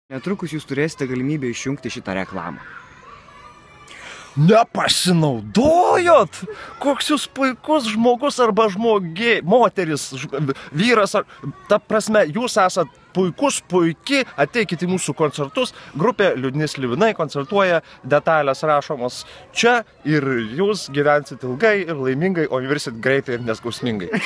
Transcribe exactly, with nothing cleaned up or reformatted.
Netrukus jūs turėsite galimybę išjungti šitą reklamą. Nepasinaudojot? Koks jūs puikus žmogus arba žmogi, moteris, vyras, ar, ta prasme, jūs esat puikus, puiki, ateikite į mūsų koncertus, grupė Liūdni Slivinai koncertuoja, detalės rašomos čia ir jūs gyvensit ilgai ir laimingai, o virsit greitai ir neskausmingai.